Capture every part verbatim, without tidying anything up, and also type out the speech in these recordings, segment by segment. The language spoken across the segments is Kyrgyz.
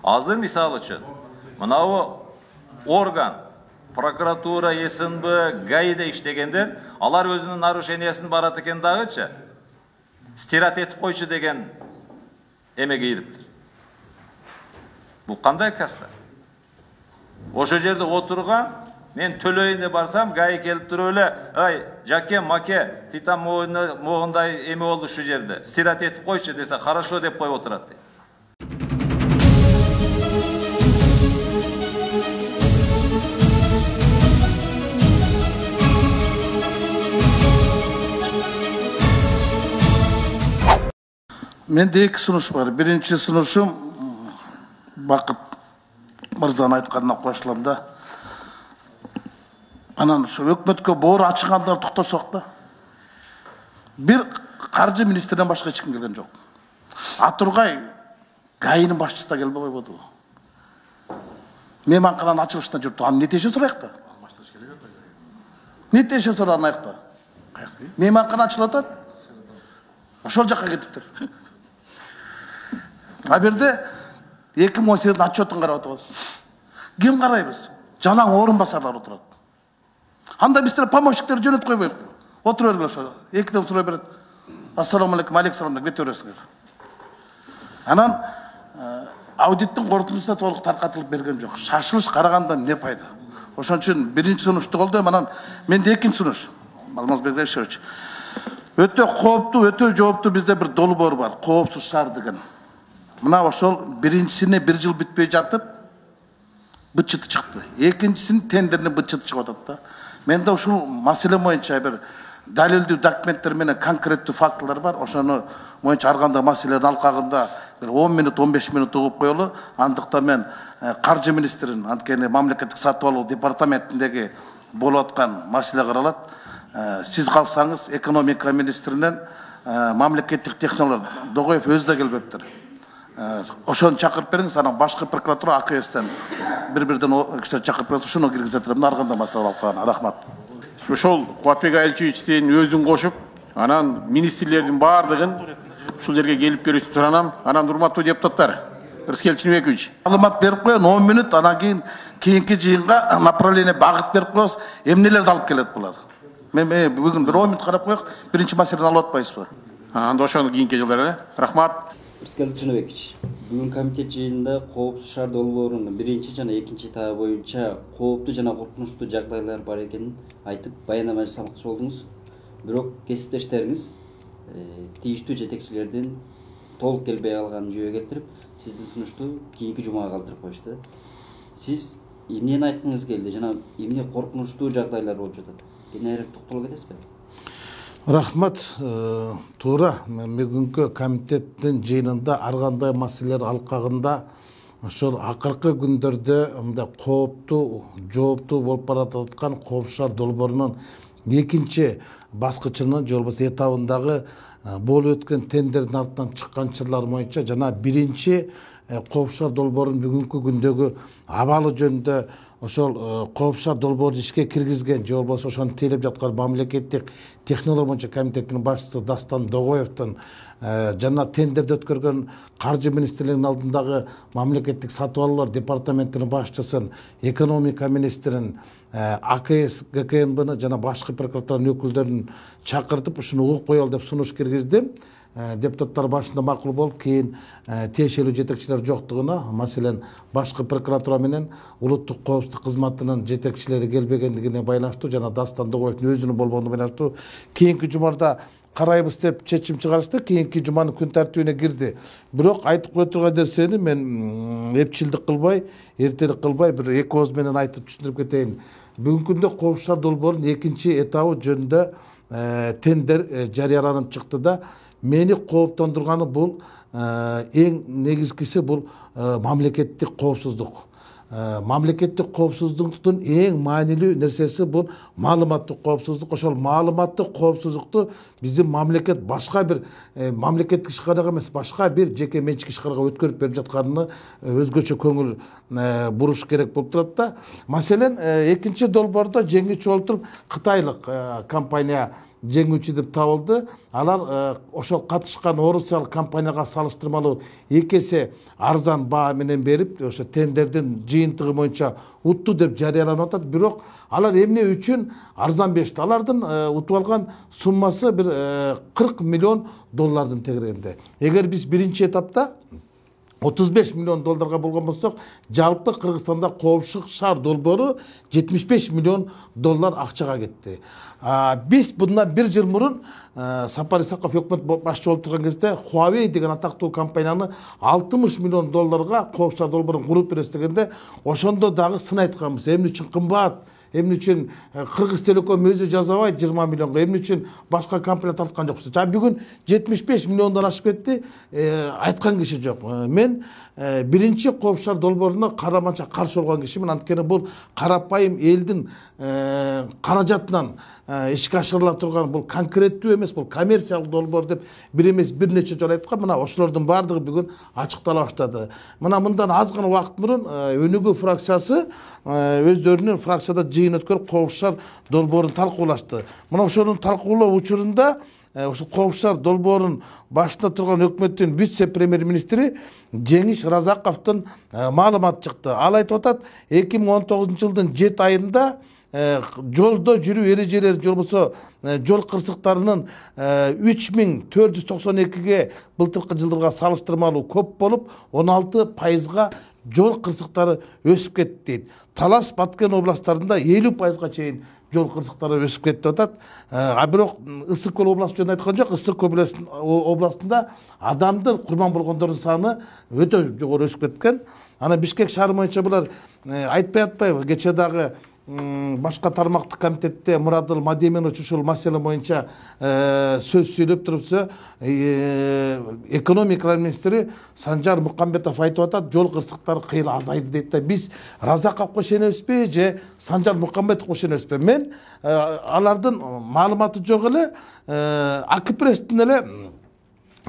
Азыр мисалы үчүн мынау орган, прокуратура, С Н Б, ГАИде иштегендер, алар өзүнүн нарушениясын барат экен дагычы, стират этип койчу деген эмеге ириптир. Бул кандай каста? Ошо жерде отурган, мен төлөйүн деп барсам, ГАИ келип туруп эле, ай, жаке, маке, титан могундай эме болду ушул жерде, стират этип койчу десе, хорошо деп коюп отурат дейт. Менде эки сунуш бар. Биринчи сунушум Бакыт мырзанын айтканына кошулам да. Анан ушу өкмөткө боору ачыгандар токтосок да. Бир каржы министринен башка эч ким келген жок. Атургай ГАИнин башчысы да келбей койбоду. Мейманкананын ачылышына жүрүптү. Аны нетеше сурайык да? Нетеше сурайык да? Мейманкана ачылып атат. Ошол жакка кетиптир. А берде эки миң он сегиздин отчетун карап атабыз. Ким карайбыз? Жалаң орун басарлар отурат. Анда биздер помощниктер жөнөтүп койбойбу. Отура бергиле ошо. Экиден сурай берет. Ассаламу алейкум, алейкум салам деп кете бересиңер. Анан аудиттин корутундусуна толук таркатылып берген жок. Шашылыш карагандан не пайда? Ошон үчүн биринчи сунушту колдойм, анан менде экинчи сунуш. Алмазбек Ишевич. Өтө кооптуу, өтө жооптуу бизде бир долбоор бар. Коопсуз шаар деген. Мына ошол биринчисине бир жыл бүтпөй жатып бытчыты чыкты. Экинчисинин тендерине бытчыты чыгып атат да. Менде ушул маселе боюнча бир далилдүү документтер менен конкреттүү фактылар бар. Ошону боюнча ар кандай маселенин алкагында бир он минут, он беш минут угуп коелу. Андыктан мен каржы министринин, анткени мамлекеттик сатып алуу департаментиндеги болуп аткан маселе каралат. Сиз калсаңыз экономика министринен мамлекеттик технологиялар Догоев өзү да келбептир. Ошону чакырып бериңиз, анан башкы прокуратура А К Стен бири-бирден кишилер чакырып бериңиз, ошону киргизетип, мына ар кандай маселе алып рахмат. Ошол Кубатбек Айылчевичтин өзүн кошуп, анан министрлердин баардыгын ушул жерге келип берүүсүн суранам. Анан урматтуу депутаттар, Рыскел Чыныбекович. Маалымат берип коеюн, он минут, анан кийин кийинки жыйынга направление багыт берип коебуз, эмнелерди алып келет булар. Мен бүгүн бир он минут карап коелук, биринчи маселени алып атпайсызбы? Анда ошону кийинки жылдары. Рахмат. Рыскел Чыныбекович, бүгүн комитет жыйынында коопсуз шаар долбоорунун биринчи жана экинчи этабы боюнча кооптуу жана коркунучтуу жагдайлар бар экенин айтып баяндама жасамакчы болдуңуз. Бирок кесиптештериңиз тийиштүү жетекчилердин толук келбей калганын жүйө келтирип, сиздин сунушту кийинки жумага калтырып коюшту. Сиз эмнени айткыңыз келди жана эмне коркунучтуу жагдайлар болуп жатат? Кененирээк токтоло кетесизби? Рахмат. Туура, бүгүнкү комитеттин жыйынында ар кандай маселелер алкагында ошол акыркы күндөрдө мындай кооптуу, жооптуу болуп бараткан коопсуз шаар долбоорунун экинчи баскычынын же болбосо этабындагы болуп өткөн тендердин артынан чыккан чырлар боюнча жана биринчи коопсуз шаар долбоорунун бүгүнкү күндөгү абалы жөнүндө ошол коопсуз шаар долбоорун ишке киргизген же болбосо ошону тейлеп жаткан мамлекеттик технология боюнча комитеттин башчысы Дастан Догоевдин жана тендерди өткөргөн каржы министрлигинин алдындагы мамлекеттик сатып алуулар департаментинин башчысын, экономика министрин, А К С Г К Н Бны жана башкы прокуратуранын өкүлдөрүн чакыртып ушуну угуп коелу деп сунуш киргиздим. Депутаттар башында макул болуп, кийин тиешелүү жетекчилер жоктугуна, маселен башкы прокуратура менен улуттук коопсуздук кызматынын жетекчилери келбегендигине байланыштуу жана Дастан Догоевдин өзүнүн болгонуна байланыштуу кийинки жумада карайбыз деп чечим чыгарышты. Кийинки жуманын күн тартибине кирди. Бирок айтып кое турган нерсени мен эпчилдик кылбай, эртелик кылбай бир эки ооз менен айтып түшүндүрүп кетейин. Бүгүнкү күндө коопсуз шаар долбоорунун экинчи этабы жөнүндө тендер жарыяланып чыкты да, мени кооптондурганы бул эң негизгиси бул мамлекеттик коопсуздук. Мамлекеттик коопсуздуктун эң маанилүү нерсеси бул маалыматтык коопсуздук. Ошол маалыматтык коопсуздукту биздин мамлекет башка бир мамлекеттик ишканага эмес, башка бир жеке менчик ишканага өткөрүп берип жатканына өзгөчө көңүл буруш керек болуп турат да. Маселен, экинчи долбоордо жеңүүчү болуп туруп Кытайлык компания жеңүүчү деп табылды. Алар ошол катышкан орусиялык компанияга салыштырмалуу эки эсе арзан баа менен берип, ошо тендердин жыйынтыгы боюнча утту деп жарыяланып атат. Бирок алар эмне үчүн арзан беришти? Алардын утуп алган суммасы бир кырк миллион доллардын тегерегинде. Эгер биз биринчи этапта отуз беш миллион долларга болгон болсок, жалпы Кыргызстанда коопсуздук шаар долбоору жетимиш беш миллион доллар акчага кетти. Биз bundan бир жыл мурун Сапар Исаков өкмөт башчы болуп турган кезде Huawei деген атактуу компанияны алтымыш миллион долларга коопсуздук шаар долбоорун куруп беребиз дегенде, ошондо дагы сын айтканбыз. Эмне үчүн кымбат? Эмне үчүн Кыргыз Телеком өзү жазабайт жыйырма миллионго? Эмне үчүн башка компания тарткан жоксуз? Жана бүгүн жетимиш беш миллиондон ашып кетти, айткан киши жок. Мен биринчи коопсуздук шаар долбооруна караманча каршы болгон кишимин. Анткени бул карапайым элдин каражатынан ишке ашырыла турган бул конкреттүү эмес, бул коммерциялык долбоор деп бир эмес бир нече жолу айткан. Мына ошолордун баардыгы бүгүн ачыктала баштады. Мына мындан аз гана убакыт мурун Өнүгүү фракциясы өздөрүнүн фракцияда жыйын өткөрүп коопсуздук шаар долбоорун талкуулашты. Мына ошонун талкуулоо учурунда ошо коопсуздук шаар долбоорунун башында турган өкмөттүн вице-премьер-министри Жеңиш Разаковдун маалыматы чыкты. Ал айтып атат, эки миң он тогузунчу жылдын жети айында жолдо жүрүү эрежелери же болбосо жол кырсыктарынын үч миң төрт жүз токсон экиге былтыркы жылдарга салыштырмалуу көп болуп, он алты пайызга жол кырсыктары өсүп кетти дейт. Талас, Баткен областтарында элүү пайызга чейин жол кырсыктары өсүп кетти деп атат. А бирок Ысык Көл областы жөнүндө айткан жок. Ысык Көл областында адамдын курман болгондордун саны өтө жогору өсүп кеткен. Ана Бишкек шаары боюнча булар айтпай атпайбы, кече дагы башка тармактык комитетте Мурадыл Мадеминович ушул маселе боюнча сөз сүйлөп турупса, экономика министри Санжар Мукамбетов айтып атат, жол кырсыктары кыйла азайды дейт да. Биз Разаковго ишенебизби же Санжар Мукамбетовго ишенебизби? Мен алардын маалыматы жок эле Акипресстин эле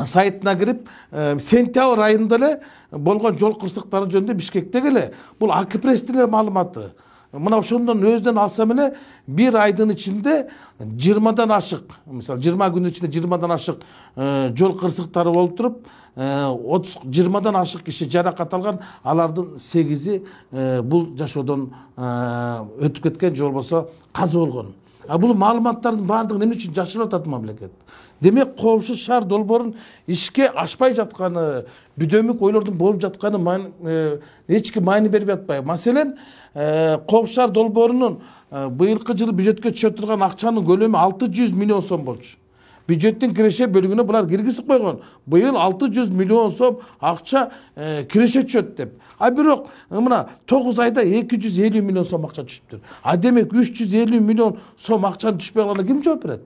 сайтына кирип, сентябрь айында эле болгон жол кырсыктары жөнүндө Бишкектеги эле бул Акипресстин эле маалыматы. Мына ошондон өзүнөн алсам эле бир айдын ичинде жыйырмадан ашык, мисалы жыйырма күнүн ичинде жыйырмадан ашык жол кырсыктары болуп туруп, жыйырмадан ашык киши жаракат алган, алардын сегизи бул жашоодон өтүп кеткен же болбосо каза болгон. А бул маалыматтардын баардыгын эмне үчүн жашырып атат мамлекет? Демек, коопсуздук шаар долбоорун ишке ашпай жатканы, бүдөмүк ойлордун болуп жатканы эч ким маани бербей атпайбы? Маселен, коопсуздук шаар долбоорунун быйылкы жылы бюджетке түшө турган акчанын көлөмү алты жүз миллион сом болчу. Бюджеттин киреше бөлүгүнө булар киргизип койгон. Быйыл алты жүз миллион сом акча киреше түшөт деп. А бирок мына тогуз айда эки жүз элүү миллион сом акча түшүптүр. А демек үч жүз элүү миллион сом акчанын түшпөй калганына ким жооп берет?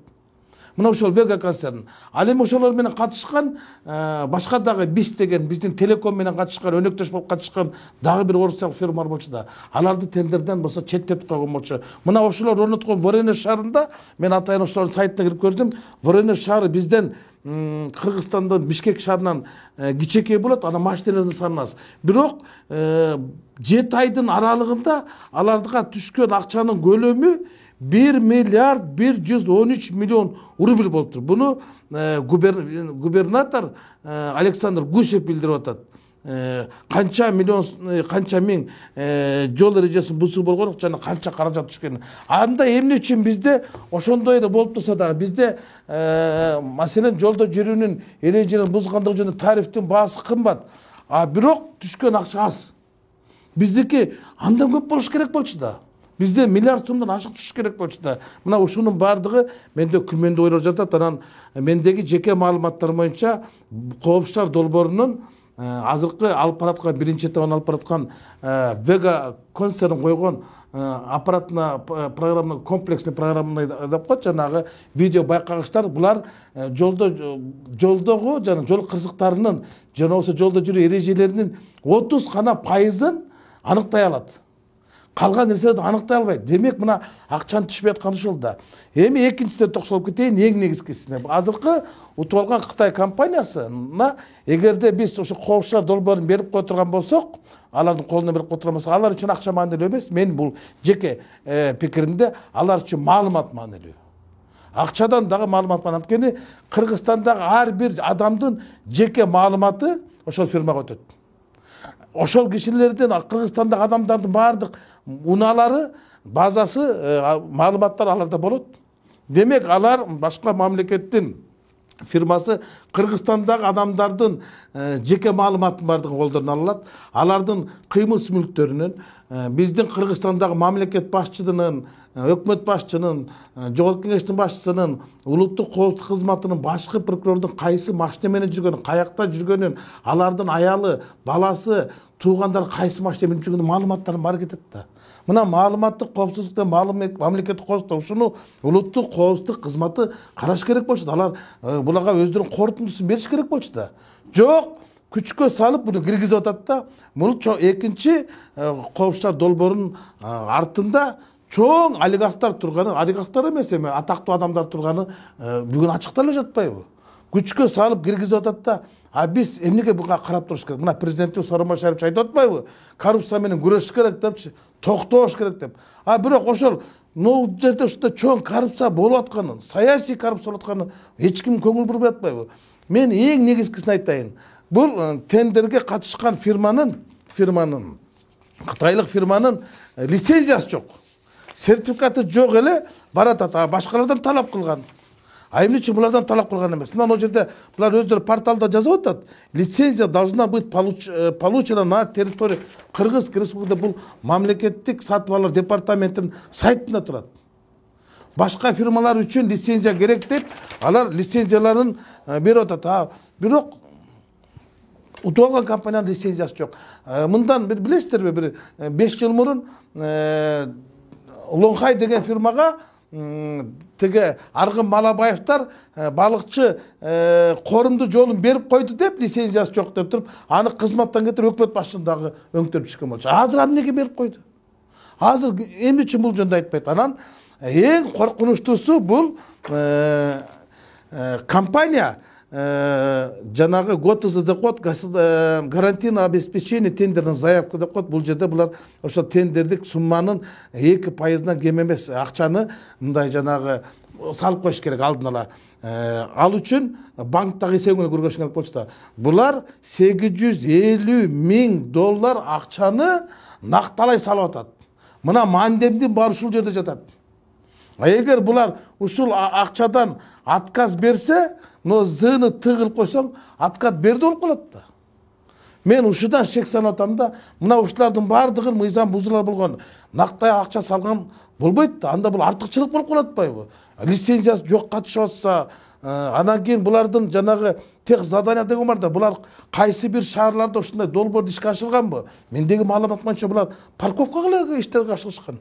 Мына ошол Вега концерн. Ал эми ошолор менен катышкан башка дагы БИС деген биздин Телеком менен катышкан, өнөктөш болуп катышкан дагы бир орусиялык фирмалар болчу да. Аларды тендерден болсо четтетип койгон болчу. Мына ошолор орноткон Воронеж шаарында мен атайын ошолордун сайтына кирип көрдүм. Воронеж шаары бизден Кыргызстандын Бишкек шаарынан кичекей болот, ана машиналардын саны аз. Бирок жети айдын аралыгында аларга түшкөн акчанын көлөмү bir milyar bir yüz on üç milyon rubl болуптур. Буну губернатор Александр Гусев билдирип атат. Канча миллион, канча миң жол эрежесин бузуу болгон жана канча каражат түшкөн. Анда эмне үчүн бизде ошондой эле болуп турса да, бизде маселен жолдо жүрүүнүн эрежелерин бузгандыгы жөнүндө тарифтин баасы кымбат. А бирок түшкөн акча аз. Биздики андан көп болуш керек болчу да. Бизде миллиард сомдон ашык түшүш керек болчу да. Мына ушунун баардыгы менде күмөндүү ойлор жатат. Анан мендеги жеке маалыматтар боюнча коопсуздук шаар долбоорунун азыркы алып бараткан биринчи этабын алып бараткан Вега концерн койгон аппаратына программа комплексный программаны деп коет, жанагы видео байкагычтар, булар жолдо жолдогу жана жол кырсыктарынын жана болсо жолдо жүрүү эрежелеринин отуз гана пайызын аныктай алат. Калган нерселерди аныктай албайт. Демек, мына акчаны түшпөй атканы ошол да. Эми экинчисине токсолуп кетейин, эң негизгисине. Азыркы утуп алган Кытай компаниясына эгерде биз ошо коопсуздук шаар долбоорун берип кое турган болсок, алардын колуна берип кое турган болсок, алар үчүн акча маанилүү эмес. Мен бул жеке пикиримде алар үчүн маалымат маанилүү. Акчадан дагы маалымат бар. Анткени Кыргызстандагы ар бир адамдын жеке маалыматы ошол фирмага өтөт. Ошол кишилердин, Кыргызстандагы адамдардын баардык унаалары, базасы, маалыматтар аларда болот. Демек, алар башка мамлекеттин фирмасы Кыргызстандагы адамдардын жеке маалыматын бардыгын колдоруна алат. Алардын кыймыл мүлктөрүнөн, биздин Кыргызстандагы мамлекет башчысынын, өкмөт башчынын, жогорку кеңештин башчысынын, улуттук коопсуздук кызматынын, башкы прокурордун кайсы машина менен жүргөнүн, каякта жүргөнүн, алардын аялы, баласы, туугандары кайсы машина менен жүргөнүн маалыматтарын бар кетет да. Мына маалыматтык коопсуздукта, мамлекеттик коопсуздукта ушуну улуттук коопсуздук кызматы караш керек болчу. Алар буларга өздөрүнүн корутундусун бериш керек болчу да. Жок, күчкө салып буну киргизип атат да. Бул экинчи коопсуздук долбоорунун артында чоң олигархтар турганы, олигархтар эмес, эми атактуу адамдар турганы бүгүн ачыкталып жатпайбы? Күчкө салып киргизип атат да. А биз эмнеге буга карап туруш керек? Мына президентибиз Сооронбай Шарипович айтып атпайбы? Коррупция менен күрөшүш керек депчи, токтош керек деп. А бирок ошол могу жерде ушундай чоң коррупция болуп атканын, саясий коррупция болуп атканын эч ким көңүл бурбай атпайбы? Мен эң негизгисин айтайын. Бул тендерге катышкан фирманын, фирманын, кытайлык фирманын лицензиясы жок. Сертификаты жок эле барат ата, башкалардан талап кылган. А эмне үчүн булардан талап кылган эмес? Мына ал жерде булар өздөрү порталда жазып атат. Лицензия должна быть получена на территории Кыргызской Республикасы. Бул мамлекеттик сатып алуулар департаментинин сайтында турат. Башка фирмалар үчүн лицензия керек деп, алар лицензияларын берип атат. Бирок утуп алган компаниянын лицензиясы жок. Мындан бир билесиздерби, бир беш жыл мурун Лонхай деген фирмага теге Аргын Малабаевтар балыкчы корумду жолун берип койду деп, лицензиясы жок деп туруп, аны кызматтан кетирип өкмөт башчысын дагы өңтөрүп чыккан болчу. Азыр эмнеге берип койду? Азыр эмне үчүн бул жөнүндө айтпайт. Анан эң коркунучтуусу бул компания жанагы ГОТЗ деп коет, гарантийное обеспечение тендерный заявка деп коет. Бул жерде булар ошо тендердик сумманын эки пайызынан кем эмес акчаны мындай жанагы салып коюш керек алдын ала. Ал үчүн банктагы эсебиңе көргөзүш керек болчу да. Булар сегиз жүз элүү миң доллар акчаны накталай салып атат. Мына мандемдин баары ушул жерде жатат. А эгер булар ушул акчадан отказ берсе, но зыны тыгылып койсоң, отказ берди болуп калат да. Мен ушудан шек санап атам да, мына ушулардын баардыгын мыйзам бузуулар болгон, нактай акча салган болбойт да. Анда бул артыкчылык болуп калат атпайбы? Лицензиясы жок катышып атса, анан кийин булардын жанагы тех задание деген бар да, булар кайсы бир шаарларда ушундай долбоорду ишке ашырганбы? Мендеги маалымат боюнча булар парковкага эле иштерге ашырышкан.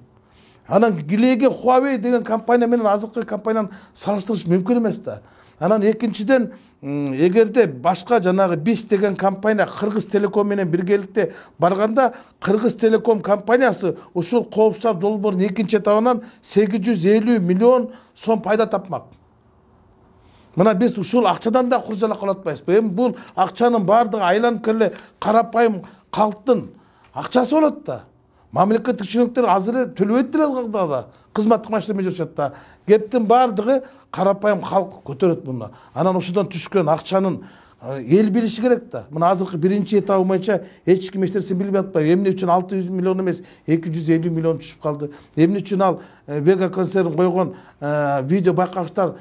Анан Гилеге Huawei деген компания менен азыркы компанияны салыштырыш мүмкүн эмес да. Анан экинчиден, эгерде башка жанагы БИС деген компания Кыргыз Телеком менен биргеликте барганда, Кыргыз Телеком компаниясы ушул коопсуздук долбоордун экинчи этабынан сегиз жүз элүү миллион сом пайда тапмак. Мына биз ушул акчадан да куржалак кылып атпайбызбы? Эми бул акчанын баардыгы айланып келе карапайым калктын акчасы болот да. Мамлекеттик чиновниктер азыр төлөбөйт деле да. Кызматтык машина менен жүрүшөт да. Кептин баардыгы карапайым калк көтөрөт муну. Анан ошодон түшкөн акчанын эл билиши керек да. Мына азыркы биринчи этабы боюнча эч ким эч нерсени билбей атпайбы. Эмне үчүн алты жүз миллион эмес, эки жүз элүү миллион түшүп калды? Эмне үчүн ал Вега концерн койгон видео байкаштар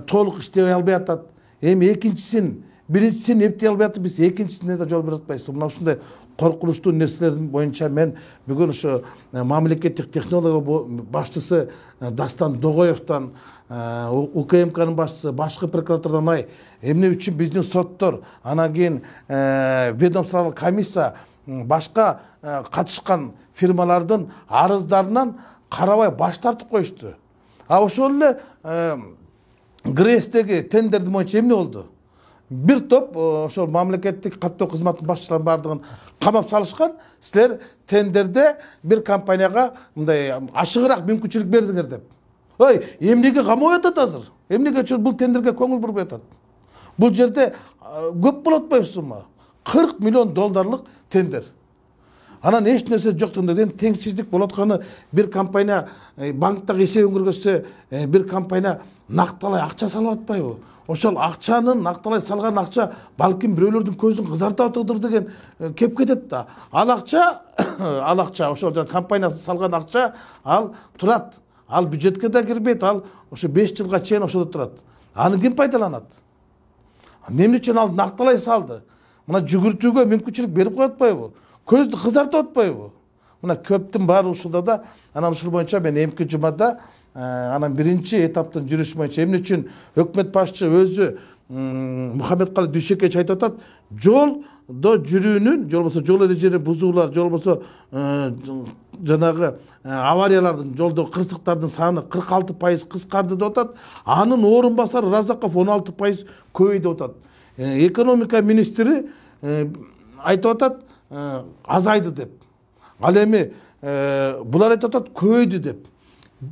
толук иштей албай атат? Эми экинчисин, биринчисин эптей албай атып, биз экинчисине да жол берип атпайбыз. Мына ушундай коркунучтуу нерселердин боюнча мен бүгүн ошо мамлекеттик технология башчысы Дастан Догоевдон, УКМКнын башчысы, башкы прокуратурадан ай, эмне үчүн биздин соттор, анан кийин ведомстволук комиссия башка катышкан фирмалардын арыздарынан карабай баш тартып коюшту. А ошол эле ГРЭСтеги тендердин боюнча эмне болду? Бир топ ошол мамлекеттик каттоо кызматынын башчыларын бардыгын камап салышкан. Силер тендерде бир компанияга мындай ашыгыраак мүмкүнчүлүк бердиңер деп. Ой, эмнеге камап атат азыр? Эмнеге үчүн бул тендерге көңүл бурбай атат? Бул жерде көп болот атпайбы? кырк миллион долларлык тендер. Анан эч нерсе жоктугунда теңсиздик болуп атканы, бир компания банктагы эсебин көргөзсө, бир компания накталай акча салып атпайбы? Ошол акчанын накталай салган акча балким бирөөлөрдүн көзүн кызартып атыдыр деген кеп кетет да. Ал акча, ал акча ошол компаниясы салган акча ал турат. Ал бюджетке да кирбейт, ал ошо беш жылга чейин ошодо турат. Аны ким пайдаланат? Эмне үчүн ал накталай салды? Мына жүгүртүүгө мүмкүнчүлүк берип коюп атпайбы? Көздү кызартып атпайбы? Мына көптүн баары ушунда да, анан ушул боюнча мен эмки жумада анан биринчи этаптын жүрүшү боюнча эмне үчүн өкмөт башчы өзү Мухаммедкалый Дүйшөкевич айтып атат, жолдо жүрүүнүн, же болбосо жол эрежелери бузуулар, же болбосо жанагы авариялардын, жолдо кырсыктардын саны кырк алты пайыз кыскарды деп атат. Анын орун басары Разаков он алты пайыз көбөйдү деп атат. Экономика министри айтып атат, азайды деп. Ал эми булар айтып атат, көбөйдү деп.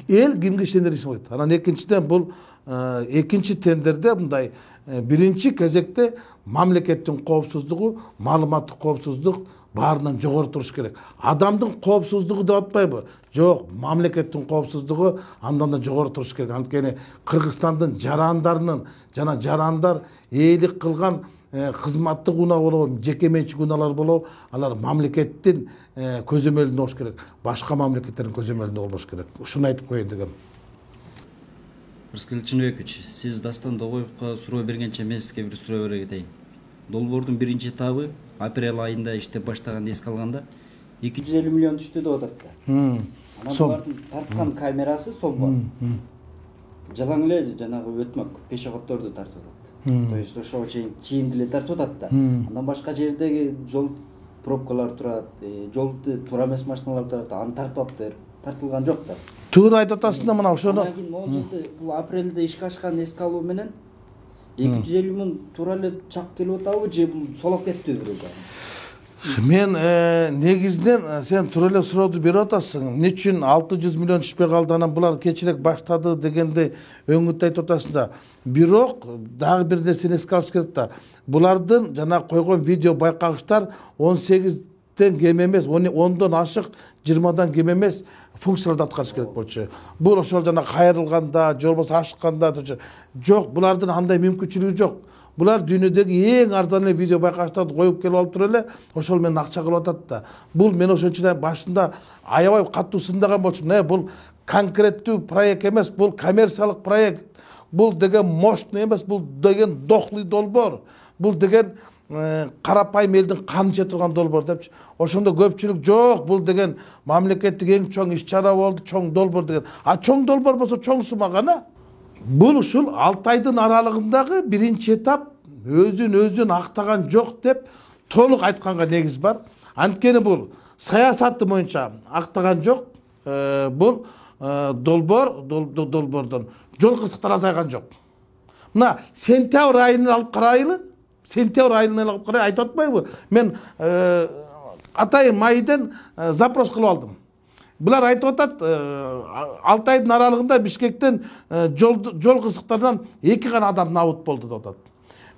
Эл кимге ишенер ишенбейт. Анан экинчиден бул экинчи тендерде мындай биринчи кезекте мамлекеттин коопсуздугу, маалыматтык коопсуздук баарынан жогору туруш керек. Адамдын коопсуздугу деп атпайбы? Жок, мамлекеттин коопсуздугу андан да жогору туруш керек. Анткени Кыргызстандын жарандарынын жана жарандар ээлик кылган кызматтык унаа болобу, жеке менчик унаалар болобу, алар мамлекеттин көзөмөлүндө болуш керек. Башка мамлекеттердин көзөмөлүндө болбош керек. Ушуну айтып коеюн дегем. Рыскел Чыныбекович, сиз Дастан Догоевго суроо бергенче мен сизге бир суроо бере кетейин. Долбоордун биринчи этабы апрель айында иштеп баштаганды эске алганда эки жүз элүү миллион түштү деп атат да. Анан булардын тарткан камерасы сом бар. Жалаң эле жанагы өтмөк пешеходдорду тартып атат. То есть ошого чейин чийимди эле тартып атат да. Андан башка жердеги жол пробкалар турат, жолду туура эмес машиналар турат, аны тартып алыптыр. Тартылган жок да. Туура айтып атасың да, мына ошону. Анан кийин могул жылды бул апрелде ишке ашкан эске алуу менен эки жүз элүү миң туура эле чак келип атабы же бул солоп кеттиби бирөө? Мен негизинен сен туура эле сурооду берип атасың. Эмне үчүн алты жүз миллион түшпөй калды, анан булар кечирээк баштады дегенде өңүттү айтып атасың да. Бирок дагы бир нерсени эске алыш керек да. Булардын жана койгон видео байкагычтар он сегизден кем эмес, ондон ашык, жыйырмадан кем эмес функцияларды аткарыш керек болчу. Бул ошол жана кайрылганда, же болбосо ашыкканда жок, булардын андай мүмкүнчүлүгү жок. Булар дүйнөдөгү эң арзан эле видео байкагычтарды коюп келип алып туруп эле ошол менен акча кылып атат да. Бул мен ошон үчүн башында аябай катуу сындаган болчумун. Э, бул конкреттүү проект эмес, бул коммерциялык проект. Бул деген мощный эмес, бул деген дохлый долбоор. Бул деген карапайым элдин канын иче турган долбоор депчи. Ошондо көпчүлүк жок, бул деген мамлекеттик эң чоң иш-чара болду, чоң долбоор деген. А чоң долбоор болсо чоң сума гана. Бул ушул алты айдын аралыгындагы биринчи этап өзүн өзүн актаган жок деп толук айтканга негиз бар. Анткени бул саясаты боюнча актаган жок. Бул долбоор долбоордон жол кырсыктар азайган жок. Мына сентябрь айын алып карайлы. Сентябрь айын алып карай айтып атпайбы? Мен атайын майдын запрос кылып алдым. Булар айтып атат, алты айдын аралыгында Бишкектен жол кырсыктарынан эки гана адам набыт болду деп атат.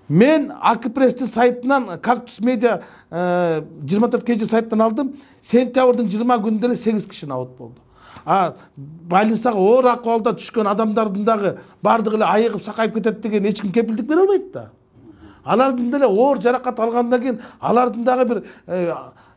Мен Акпресстин сайтынан, Кактус медиа жыйырма төрт кей жи сайттан алдым. Сентябрдын жыйырма күнүндө эле сегиз киши набыт болду. А больницага оор акыбалда түшкөн адамдардын дагы бардыгы эле айыгып сакайып кетет деген эч ким кепилдик бере албайт да. Алардын деле оор жаракат алгандан кийин алардын дагы бир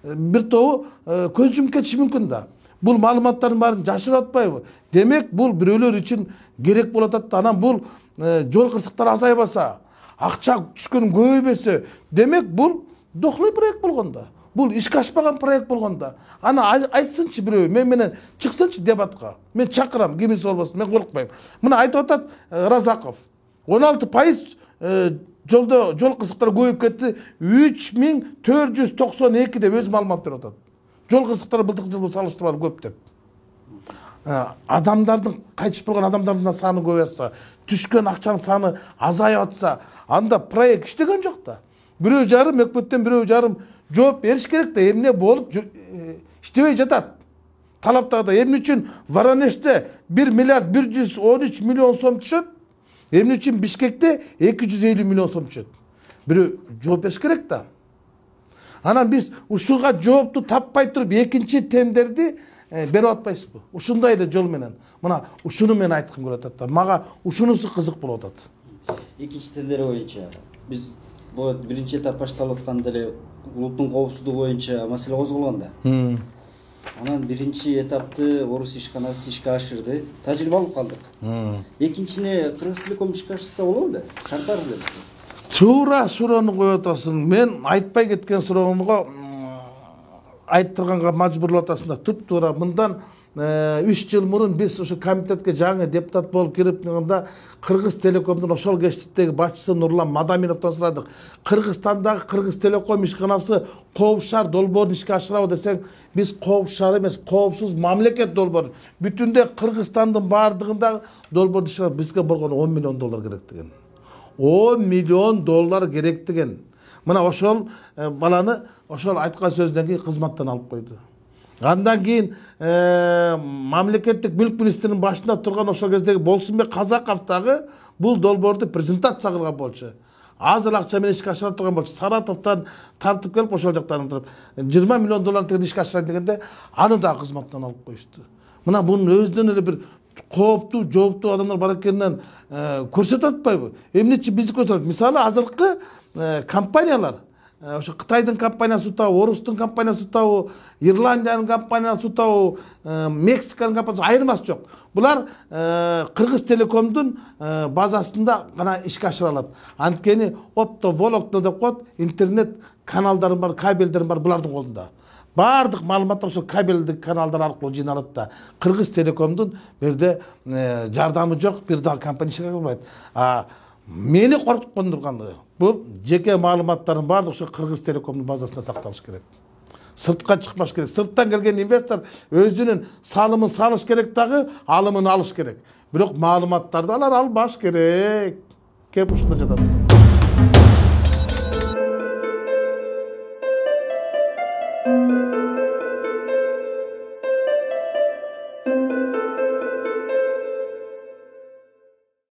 бир тобу көз жумуп кетиши мүмкүн да. Бул маалыматтардын баарын жашырып атпайбы? Демек бул бирөөлөр үчүн керек болуп атат да. Анан бул жол кырсыктар азайбаса, акча түшкөн көбөйбөсө, демек бул дохлый проект болгон да. Бул ишке ашпаган проект болгон да. Ана айтсынчы бирөө, мен менен чыксынчы дебатка. Мен чакырам, кимиси болбосун, мен коркпойм. Мына айтып атат Разаков. он алты пайыз жолдо жол кырсыктары көбөйүп кетти. үч миң төрт жүз токсон эки деп өз маалымат берип атат. Жол кырсыктары былтыркы жылы салыштырмалуу көп деп. Адамдардын кайтышып болгон адамдардын саны көбөйсө, түшкөн акчанын саны азайып атса, анда проект иштеген жок да. Бирөө жарым өкмөттөн бирөө жарым жооп бериш керек да. Эмне болуп иштебей жатат? Талаптагыдай эмне үчүн Воронежде бир миллиард бир жүз он үч миллион сом түшөт? Эмне үчүн Бишкекте эки жүз элүү миллион сом түшөт? Бирөө жооп бериш керек да. Анан биз ушуга жоопту таппай туруп экинчи тендерди берип атпайсызбы? Ушундай эле жол менен. Мына ушуну мен айткым келип атат да. Мага ушунусу кызык болуп атат. Экинчи тилдери боюнча биз бул биринчи этап башталып атканда эле улуттун коопсуздугу боюнча маселе козголгон да. Анан биринчи этапты орус ишканасы ишке ашырды. Тажрыйба алып калдык. Экинчине Кыргыз Телеком ишке ашырса болобу эле? Шарттар эле. Туура суроону коюп атасың. Мен айтпай кеткен суроону айттырганга мажбурлап атасың да. Туп-туура мындан үч жыл мурун биз ошо комитетке жаңы депутат болуп кирип турганда Кыргыз Телекомдун ошол кечтиктеги башчысы Нурлан Мадаминовдон сурадык. Кыргызстандагы Кыргыз Телеком ишканасы коопшаар долбоорун ишке ашырабы десең, биз коопшаар эмес, коопсуз мамлекет долбоор. Бүтүндө Кыргызстандын баардыгында долбоорду ишке бизге болгону он миллион доллар керек деген. он миллион доллар керек деген. Мына ошол баланы ошол айткан сөздөн кийин кызматтан алып койду. Андан кийин мамлекеттик мүлк министринин башында турган ошол кездеги Болсунбек Казаков дагы бул долбоорду презентация кылган болчу. Аз эле акча менен ишке ашыра турган болчу. Саратовдон тартып келип ошол жактан туруп жыйырма миллион доллар тегин ишке ашырайын дегенде аны дагы кызматтан алып коюшту. Мына бунун өзүнөн эле бир кооптуу, жооптуу адамдар бар экенин көрсөтүп атпайбы? Эмнечи бизди көрсөтөт? Мисалы азыркы компаниялар ошо Кытайдын компаниясы утабы, Орустун компаниясы утабы, Ирландиянын компаниясы утабы, Мексиканын компаниясы айырмасы жок. Булар Кыргыз Телекомдун базасында гана ишке ашыра алат. Анткени оптоволокно деп коет, интернет каналдары бар, кабелдери бар булардын колунда. Бардык маалыматтар ошо кабелдик каналдар аркылуу жыйналат да. Кыргыз Телекомдун берде жардамы жок, бир дагы компания ишке кылбайт. Мени коркутуп кондурганы бул жеке маалыматтардын баардыгы ошо Кыргыз Телекомдун базасында сакталыш керек. Сыртка чыкпаш керек. Сырттан келген инвестор өзүнүн салымын салыш керек дагы, алымын алыш керек. Бирок маалыматтарды алар албаш керек. Кеп ушунда жатат.